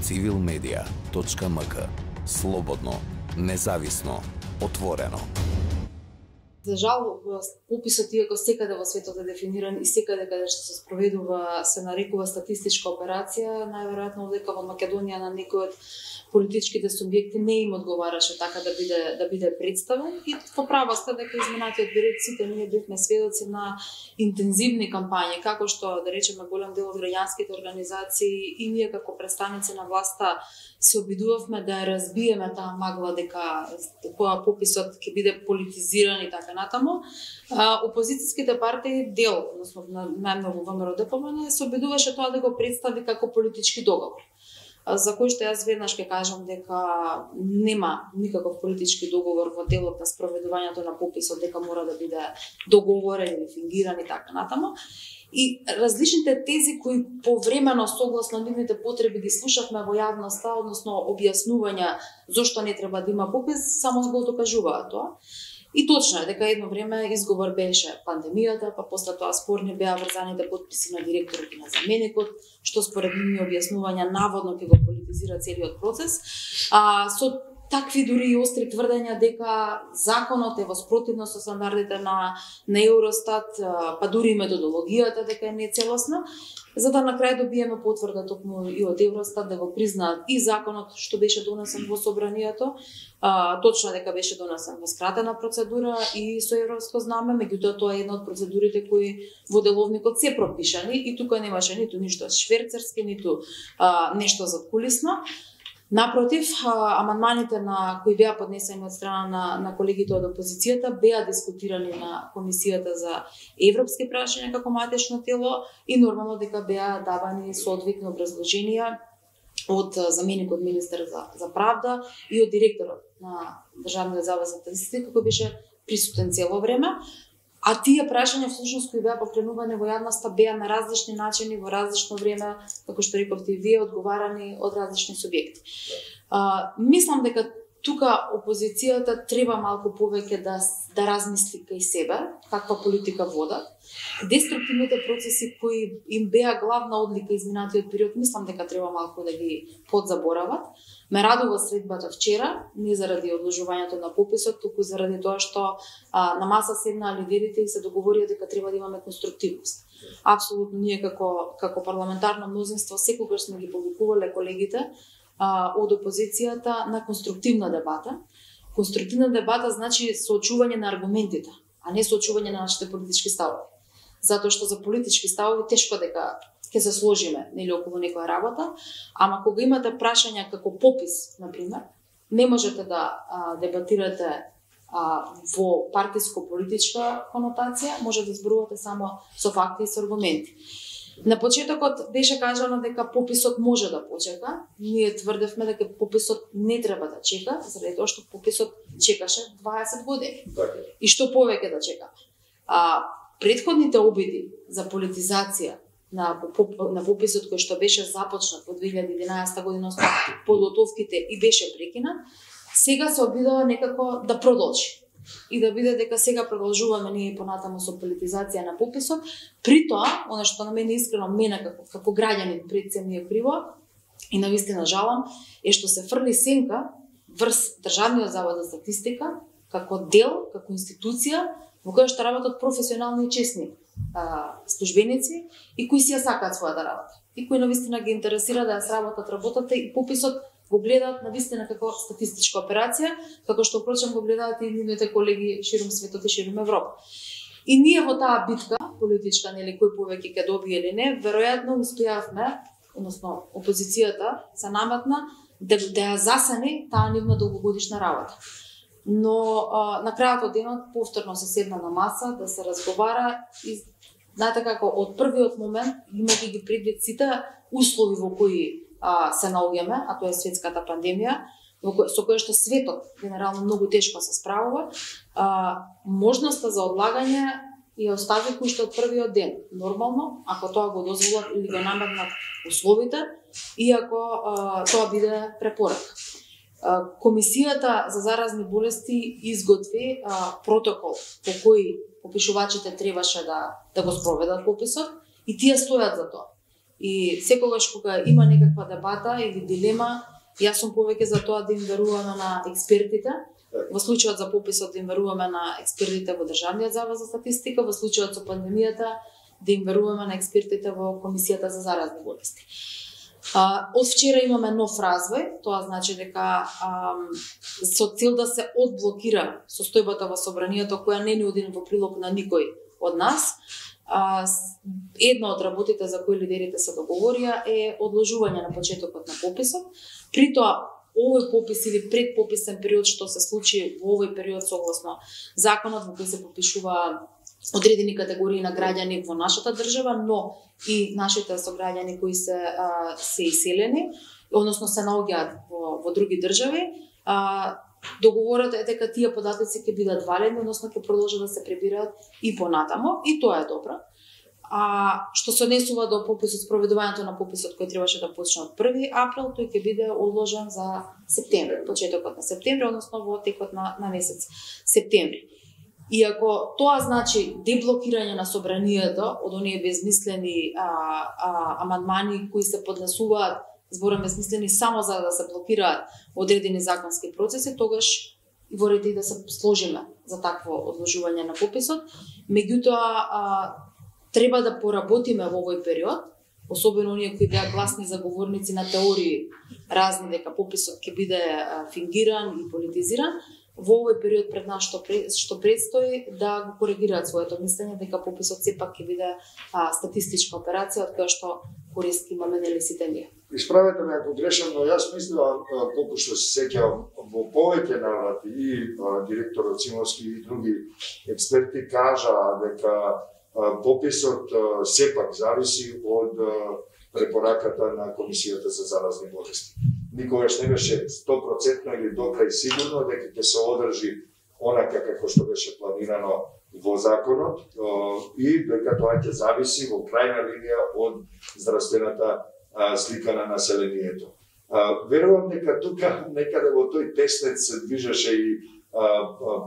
civilmedia.mk. Слободно, независно, отворено. За жал, пописот, иако секаде во светот е дефиниран и секаде каде што се спроведува, се нарекува статистичка операција, најверојатно дека во Македонија на некој од политичките субјекти не им одговараше така да биде представен, и во права сте дека изминатиот период сите ние бевме сведоци на интензивни кампањи, како што, да речеме, голем дел од граѓанските организации и ние како представници на власта се обидувавме да ја разбиеме таа магла дека пописот ќе биде политизиран и така натаму. Опозицијските партии, дел, односно најмногу ВМРО-ДПМН, се обидуваше тоа да го представи како политички договор, за кој што јас веднаш ќе кажам дека нема никаков политички договор во делот на спроведувањето на пописот, дека мора да биде договорен или фингиран и така натаму. И различните тези кои повремено согласно нивните потреби ги слушавме во јавноста, односно објаснувања зошто не треба да има попис, само го докажуваат тоа. И точно е дека едно време изговор беше пандемијата, па после тоа спорни беа врзаните потписи на директорот и на заменикот, што според нивни објаснувања наводно ќе го политизира целиот процес. Со такви дури и остри тврдења дека законот е во спротивност со стандардите на Евростат, па дури и методологијата дека е нецелосна, за да на крај добиеме потврда токму и од Евростат да го признаат и законот што беше донесен во собранието, точно дека беше донесен во скратена процедура и со европско знаме, меѓутоа тоа е една од процедурите кои во деловникот се пропишани и тука немаше ниту ништо шверцерски, ниту нешто задкулисно. Напротив, амандманите на кои беа поднесени од страна на колегите од опозицијата беа дискутирани на Комисијата за европски прашања како матечно тело и нормално дека беа давани соодветни образложенија од заменикот министер за правда и од директорот на Државниот завод за статистика, кој беше присутен цело време. А тие прашања всушност кои беа покренувани во јавноста беа на различни начини во различно време, како што рековте и вие, одговарани од различни субјекти. Мислам дека тука опозицијата треба малку повеќе да размисли кај себе, каква политика водат. Деструктивните процеси кои им беа главна одлика изминатиот период, мислам дека треба малку да ги подзаборават. Ме радува средбата вчера, не заради одложувањето на пописот, туку заради тоа што на маса седнаа лидерите и се договорија дека треба да имаме конструктивност. Апсолутно ние како парламентарно мнозинство секогаш сме ги повикувале колегите од опозицијата на конструктивна дебата. Конструктивна дебата значи соочување на аргументите, а не соочување на нашите политички ставови. Затоа што за политички ставови тешко дека ќе се сложиме нели околу некоја работа, ама кога имате прашања како попис, например, не можете да дебатирате во партиско-политичка конотација, може да зборувате само со факти и со аргументи. На почетокот беше кажано дека пописот може да почека. Ние тврдевме дека пописот не треба да чека, заради тоа што пописот чекаше 20 години. И што повеќе да чека. Претходните обиди за политизација на пописот кој што беше започнат во 2011 година, подготовките и беше прекинат, сега се обидува некако да продолжи. И да биде дека сега продолжуваме ние понатаму со политизација на пописот. При тоа, она што на мене искрено како граѓанин пред се ми е криво и навистина жалам, е што се фрли сенка врз Државниот завод за статистика како дел, како институција во која што работат професионални и честни службеници и кои си ја сакаат својата работа. И кои навистина ги интересира да ја сработат работата и пописот го гледаат навистина како статистичка операција, како што впрочем го гледаат и нивните колеги ширум светот и ширум Европа. И ние во таа битка политичка, нели, кој повеќе ќе добие или не, веројатно успеавме, односно опозицијата се наметна да ја засени таа нивна долгогодишна работа. Но на крајот од денот повторно се седна на маса да се разговара и знаете како од првиот момент, имајќи ги предвид сите услови во кои се наоѓаме, а тоа е светската пандемија, со која што светот генерално многу тешко се справува, можноста за одлагање ја остави кој што од првиот ден. Нормално, ако тоа го дозволат или го наметнат условите, и ако тоа биде препорака. Комисијата за заразни болести изготви протокол по кој попишувачите требаше да го спроведат пописот и тие стојат за тоа. И секогаш кога има некаква дебата или дилема, јас сум повеќе за тоа да им веруваме на експертите. Во случајот за пописот да им веруваме на експертите во Државниот завод за статистика, во случајот со пандемијата да им веруваме на експертите во Комисијата за заразни болести. Од вчера имаме нов развој, тоа значи дека со цел да се одблокира состојбата во собранието која не ни оди во прилог на никој од нас, една од работите за кои лидерите се договорија е одложување на почетокот на пописот. При тоа овој попис или предпописен период што се случи во овој период согласно законот во кој се попишува одредени категории на граѓани во нашата држава, но и нашите сограѓани кои се иселени, односно се наоѓаат во други држави. Договорот е дека тие податоци ќе бидат валидни, односно ќе продолжат да се пребираат и понатамо, и тоа е добро. Што се однесува до пописот, спроведувањето на пописот кој требаше да почне од 1 април, тој ќе биде одложен за септември, почетокот на септември, односно во текот на месец септември. Иако тоа значи деблокирање на собранието од оние безмислени амандмани кои се поднесуваат, зборам безмислени само за да се блокираат одредени законски процеси, тогаш во ред и да се сложиме за такво одложување на пописот. Меѓутоа треба да поработиме во овој период, особено оние кои беа гласни заговорници на теории разни дека пописот ќе биде фингиран и политизиран. Во овој период пред нас што предстои да го коригираат своето мислење дека пописот сепак ќе биде статистичка операција од која што корист имаме нели сите ние. Исправете ме ако грешам, но јас мислам, колку што се сеќавам, во повеќе наврати и директорот Цимовски и други експерти кажаа дека пописот сепак зависи од препораката на Комисијата за заразни болести. Никогаш не беше 100% или докрај сигурно дека ќе се одржи онака како што беше планирано во законот и дека тоа ќе зависи во крајна линија од здравствената слика на населението. Верувам дека тука некаде во тој теснец се движеше и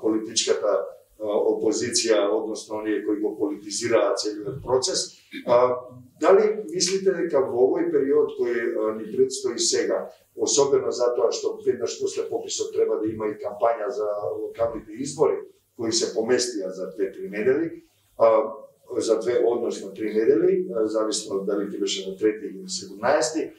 политичката опозиција, односно оние кои го политизираат целиот процес. Дали мислите дека во овој период кој ни предстои сега, особено затоа што веднаш после пописот треба да има и кампања за локалните избори, кои се поместија за 2-3 недели, за 2, односно 3 недели, зависно дали ќе беше на 3 или 17,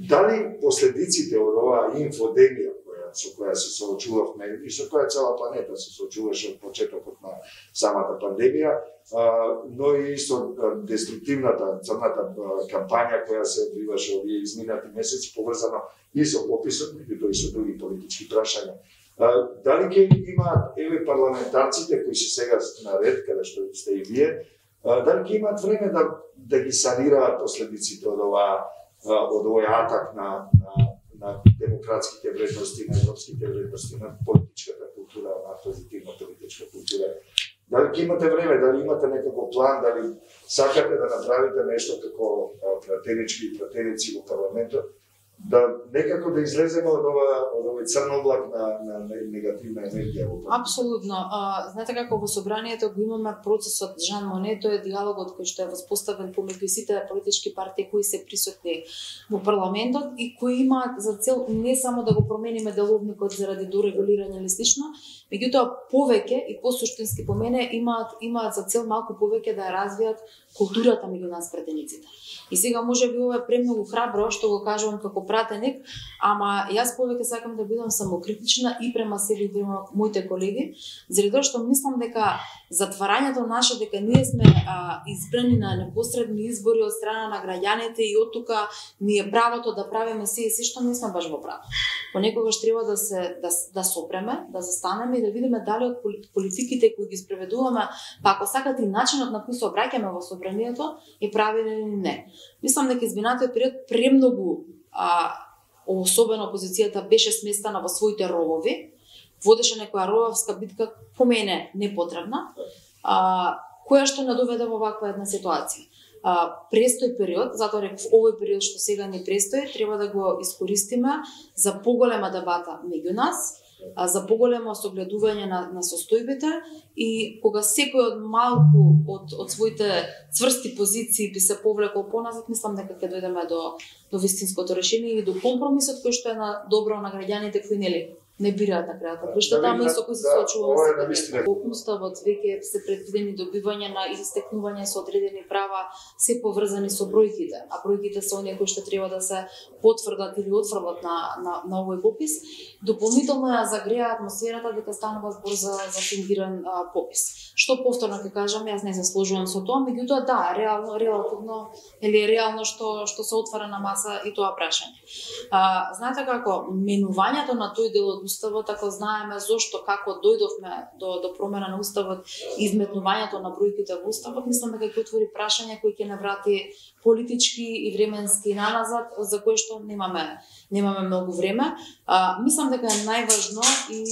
дали последиците од оваа инфодемија со која се соочувавме и со која цела планета се соочуваше од почетокот на самата пандемија, но и со деструктивната црната кампања која се одвиваше овие изминати месеци, поврзано и со пописот, меѓутоа и со други политички прашања. Дали ќе имаат парламентарците кои се сега на ред, каде што сте и вие, дали ќе имаат време да ги санираат последиците од овој атак на демократските вредности, на европските вредности, на политичката култура, на позитивна политичка култура. Дали ќе имате време, дали имате некако план, дали сакате да направите нешто како пратенички и пратеници во парламентот, да некако да излеземе од овој црн облак на негативна енергија во парламентот? Апсолутно. Знаете како во собранието го имаме процесот Жан Моне, тој е диалогот кој што е воспоставен помеѓу сите политички партии кои се присутни во парламентот и кои имаат за цел не само да го промениме деловникот заради дорегулирање или слично, меѓутоа повеќе и посуштински по мене имаат за цел малку повеќе да ја развијат културата меѓу нас пратениците. И сега може би ова е премногу храбро што го кажувам како пратеник, ама јас повеќе сакам да бидам самокритична и према себе и према моите колеги, заради тоа што мислам дека затварањето наше дека ние сме избрани на непосредни избори од страна на граѓаните и од тука ни е правото да правиме се и се што не сме баш во право. Понекогаш треба да сопреме, да застанеме и да видиме дали од политиките кои ги спроведуваме, па ако сакате и начинот на кој се обраќаме во собранието е правилен или не. Мислам дека изминатиот период премногу особено опозицијата беше сместена во своите ровови, водеше некоја рововска битка по мене непотребна, која што не доведе во ваква една ситуација. Престој период, затоа реков овој период што сега ни престои, треба да го искористиме за поголема дебата меѓу нас, за поголемо согледување на состојбите и кога секој од малку од своите цврсти позиции би се повлекол поназад, мислам дека ќе дојдеме до вистинското решение и до компромисот кој што е на добро на граѓаните кои не бираат на крајот. Виште таму и со кои се соочуваме сега. Во Уставот веќе се предвидени добивање на или стекнување со одредени права се поврзани со бројките, а бројките се оние кои што треба да се потврдат или отфрлат на овој попис. Дополнително ја загреа атмосферата дека станува збор за фингиран попис. Што повторно ќе кажам, јас не се сложувам со тоа, меѓутоа да, релативно или реално што се отвара на маса и тоа прашање. Знаете како менувањето на тој дел од Уставот, ако знаеме зошто, како дојдовме до промена на Уставот и изметнувањето на бројките во Уставот, мислам дека ќе отвори прашање кои ќе наврати политички и временски наназад, за кое што немаме многу време. Мислам дека е најважно и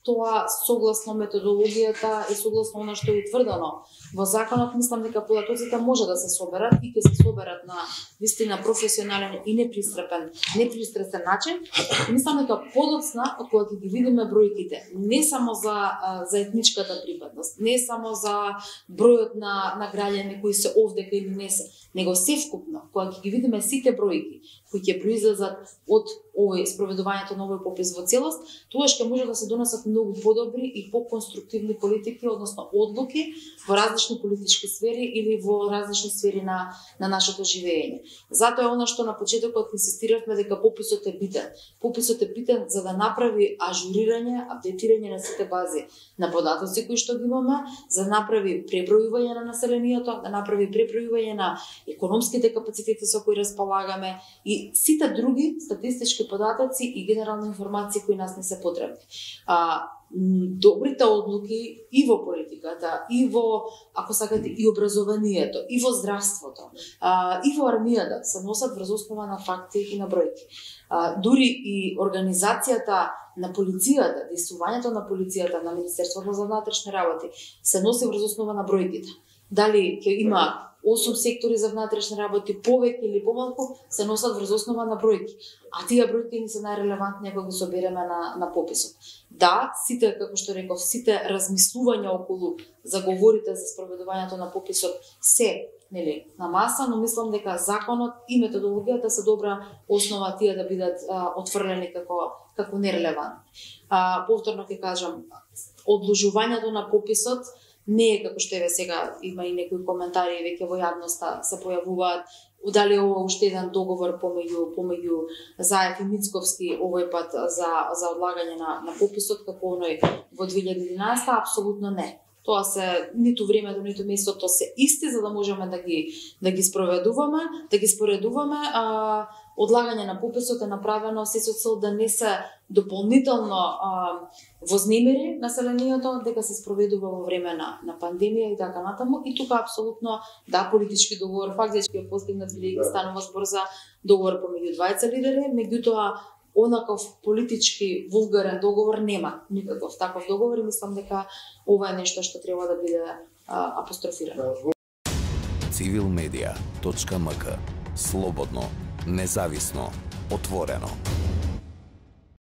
тоа согласно методологијата и согласно она што е утврдено во законот, мислам дека податоците може да се соберат и ќе се соберат на вистина професионален и непристрасен начин. Мислам дека подоцна од кога ќе ги видиме бројките, не само за етничката припадност, не само за бројот на граѓани кои се овдека или не се, него севкупно, кога ќе ги видиме сите бројки кои ќе произлезат од овој спроведувањето на овој попис во целост, тогаш ќе може да се донесат многу подобри и поконструктивни политики, односно одлуки во различни политички сфери или во различни сфери на нашето живење. Затоа е она што на почетокот инсистиравме дека пописот е битен. Пописот е битен за да направи ажурирање, апдейтирање на сите бази на податоци кои што ги имаме, за да направи пребројување на населението, да направи пребројување на економските капацитети со кои располагаме и сите други статистички податоци и генерални информации кои нас не се потребни. Добрите одлуки и во политиката, и во, ако сакате, и образованието, и во здравството, и во армијата се носат врз основа на факти и на бројки. Дури и организацијата на полицијата, действувањето на полицијата, на Министерството за внатрешни работи се носи врз основа на бројките. Дали ќе има 8 сектори за внатрешни работи, повеќе или помалку, се носат врз основа на бројки. А тие бројки не се најрелевантни кога ги собереме на пописот. Да, сите, како што реков, сите размислувања околу заговорите за спроведувањето на пописот се на маса, но мислам дека законот и методологијата се добра основа тие да бидат отфрлени како нерелевантни. Повторно ќе кажам, одложувањето на пописот не е како што еве сега има и некои коментари веќе во јавноста се појавуваат дали ова уште еден договор помеѓу Заев и Мицковски овој пат за одлагање на пописот како оној во 2011, апсолутно не. Тоа се ниту времето, ниту местото се исти за да можеме да ги спроведуваме, да ги споредуваме. Одлагање на пописот е направено се со цел да не се дополнително вознемири населението, дека се спроведува во време на пандемија и така натаму. И тука апсолутно да, политички договор фактички е постигнат или станува збор за договор помеѓу двајца лидери, меѓутоа онаков политички вулгарен договор нема никаков таков договор и мислам дека ова е нешто што треба да биде апострофирано. civilmedia.mk Слободно, независно, отворено.